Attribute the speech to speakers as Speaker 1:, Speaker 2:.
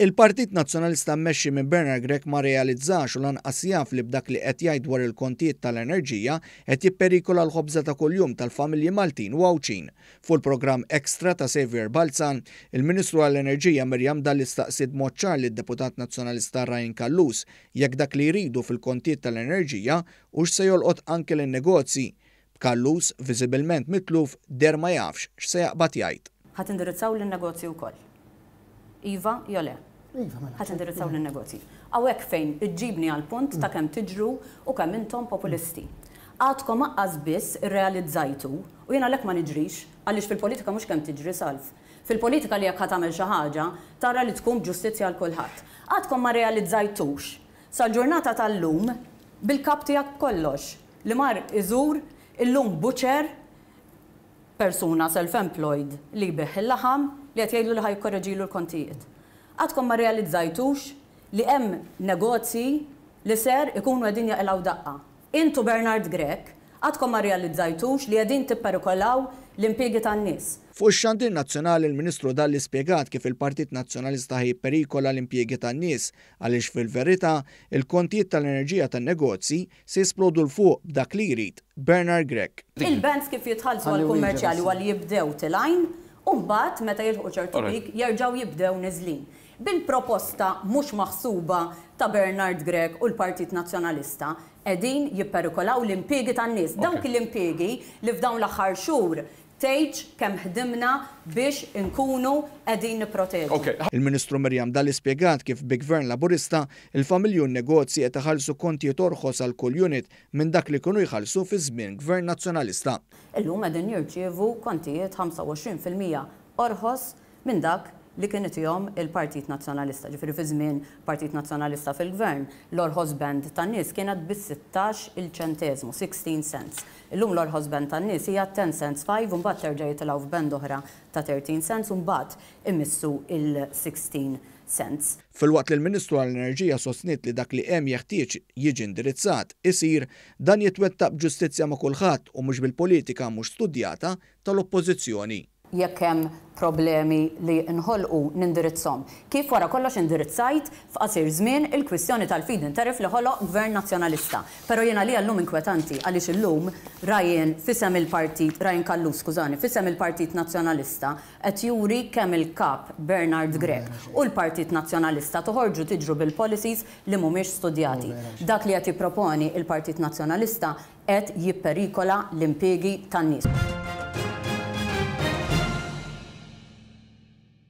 Speaker 1: Il-Partit Nazzjonalista mmexxi minn Bernard Grech ma rrealizzax u lanqas jaf li b'dak li qed jgħid dwar il-kontijiet tal-enerġija qed jipperikola l-ħobża ta' kuljum tal-familji Maltin u Għawdxin. Fuq il-programm Extra ta' Saviour Balzan, il-Ministru għall-Enerġija Miriam Dalli staqsiet b'mod ċar lid-Deputat Nazzjonalista Ryan Callus jekk dak li jridu fil-kontijiet tal-enerġija hux se jolqot anke lin-negozji. B'Callus viżibilment mitluf deher ma jafx x'se jaqbad jgħid.
Speaker 2: Ħa tindirizzaw lin-negozji wkoll? Iva jew le?
Speaker 3: Iva, mela.
Speaker 2: Ħa tindirizzaw lin-negozji. Hawnhekk fejn iġġibni għall-punt ta' kemm tiġru u kemm intom populisti. Għadkom aqqas biss irrealizzajtu, u jien għalhekk ma niġrix, għaliex fil-politika mhux kemm tiġri, Salv. Fil-politika li jekk ħa tagħmel xi ħaġa, tara li tkun b'ġustizzja għal kulħadd. Għadkom ma rrealizzajtux, sal-ġurnata tal-lum, bil-kap tiegħek b'kollox, li mar iżur illum butcher, persuna self-employed li jbigħ il-laħam li qed jgħidlu li ħa jikkoreġilu l-kontijiet. Għadkom ma rrealizzajtux li hemm negozji li ser ikunu qegħdin jaqilgħu daqqa. Int u Bernard Grech għadkom ma rrealizzajtux li qegħdin tipperikolaw l-impiegi tan-nies.
Speaker 1: Fuq ix-xandir nazzjonali l-Ministru Dalli spjegat kif il-Partit Nazzjonalista ħa jipperikola l-impjiegi tan-nies għaliex fil-verità il-kontijiet tal-enerġija tan-negozji se jisplodu 'l fuq b'dak li jrid Bernard Grech.
Speaker 2: Il-bands kif jitħallsu għall-kummerċjali huwa li jibdew tilgħin u mbagħad meta jilħqu ċertu peak jerġgħu jibdew niżlin. Bil-proposta mhux maħsuba ta' Bernard Grech u l-Partit Nazzjonalista qegħdin jipperikolaw l-impiegi tan-nies. Dawk l-impiegi li f'dawn l-aħħar xhur Tgħidx kemm ħdimna biex inkunu qegħdin nipproteġu.
Speaker 1: Il-Ministru Miriam Dalli spjegat kif bi Gvern Laburista, il-familji u n-negozji qed iħallsu kontijiet orħos għal kull unit minn dak li kienu jħallsu fi żmien Gvern Nazzjonalista.
Speaker 2: Illum qegħdin jirċievu kontijiet 25% orħos minn dak li kien itihom il-Partit Nazzjonalista. Ġifieri fi żmien Partit Nazzjonalista fil-Gvern, l-orħos band tan-nies kienet bis-sittax il ċenteżmu, 16 cents. Illum l-orħos band tan-nies hija 10 cents five u mbagħad terġa' jitilgħu f'band oħra ta' 13 cents u mbagħad imissu il-16 cents.
Speaker 1: Filwaqt li l-Ministru għall-Enerġija sostniet li dak li hemm jeħtieġ jiġi indirizzat, isir, dan jitwettaq b'ġustizzja ma' kulħadd u mhux bil-politika mhux studjata tal-Oppożizzjoni.
Speaker 2: Jekk hemm problemi li nħolqu nindirizzhom. Kif wara kollox indirizzajt f'qasir żmien il-kwistjoni tal-feed-in tariff li ħoloq Gvern Nazzjonalista. Però jien għalija llum inkwetanti għaliex illum Ryan f'isem il-Partit, Ryan Callus skużani, f'isem il-Partit Nazzjonalista qed juri kemm il-Kap Bernard Grech u l-Partit Nazzjonalista toħorġu tiġru bil-policies li mhumiex studjati. Dak li qed jipproponi il-Partit Nazzjonalista qed jipperikola l-impiegi tan-nies.